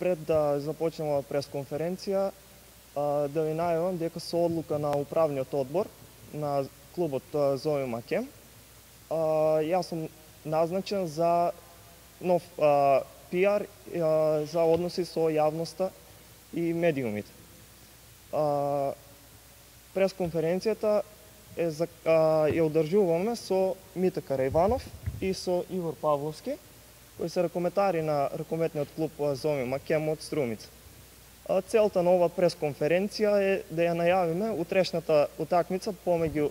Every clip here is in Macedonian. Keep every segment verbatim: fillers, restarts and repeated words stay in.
пред да започнеме пресконференција, да ви најавам дека со одлука на управниот одбор на клубот Зови Макем, јас сум назначен за нов пиар за односи со јавноста и медиумите. Пресконференцијата е за, ја одржуваме со Мите Караиванов и со Ивор Павловски, кои се ракометари на ракометниот клуб Зови Макем од Струмица. Целта на ова пресконференција е да ја најавиме утрешната утакмица помеѓу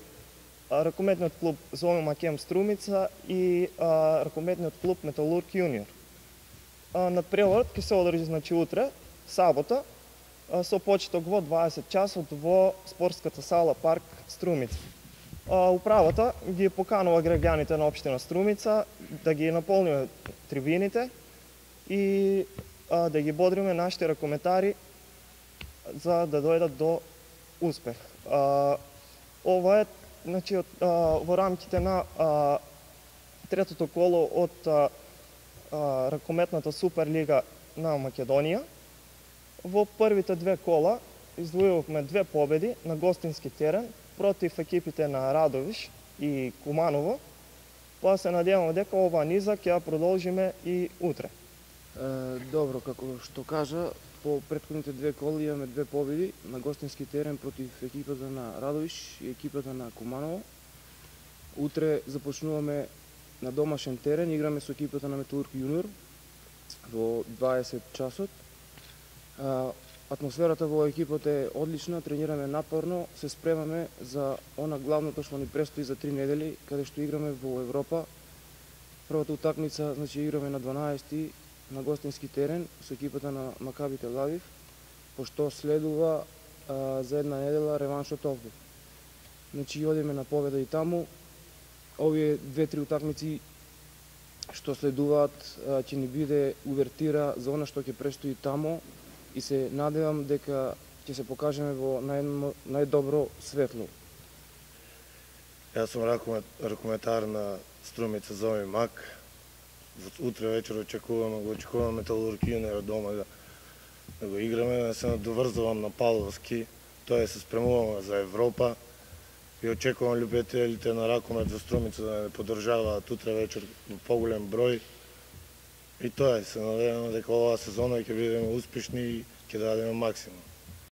ракометниот клуб Зови Макем Струмица и ракометниот клуб Металург Јуниор. Надпреварот ќе се одржи значи утре, сабота, со почеток во дваесет часот во спортската сала Парк Струмица. Управата ги поканува граѓаните на општина Струмица да ги наполниме трибините и да ги бодриме нашите ракометари за да дојдат до успех. Ова е значи, во рамките на третото коло од ракометната Суперлига на Македонија. Во првите две кола издвојувавме две победи на гостински терен против екипите на Радовиш и Куманово, па се надеваме дека оваа низа ќе ја продолжиме и утре. Добро, како што кажа, по претходните две коли имаме две победи на гостински терен против екипата на Радовиш и екипата на Куманово. Утре започнуваме на домашен терен, играме со екипата на Металург Јуниор во дваесет часот. Атмосферата во екипата е одлична, тренираме напорно, се спремаме за она главното што ни престои за три недели, каде што играме во Европа. Првата утакмица, значи, играме на дванаесети на гостински терен со екипата на Макаби Тел Авив, пошто следува а, за една недела реваншот овде. Значи, одиме на победа и таму. Овие две-три утакмици што следуваат ќе ни биде увертира за она што ќе престои таму и се надевам дека ќе се покажеме во нај, најдобро светло. Јас сум ракометар на Струмица Зови Мак. Утре вечер очекуваме, го очекуваме Металург Јуниор дома да, да го играме, да се надоврзувам на Павловски, тоа се спремуваме за Европа и очекувам љубителите на ракомет во Струмица да не поддржаваат утре вечер во поголем број. И тоа е, се надеваме дека оваа сезона ќе бидеме успешни и ќе дадеме максимум.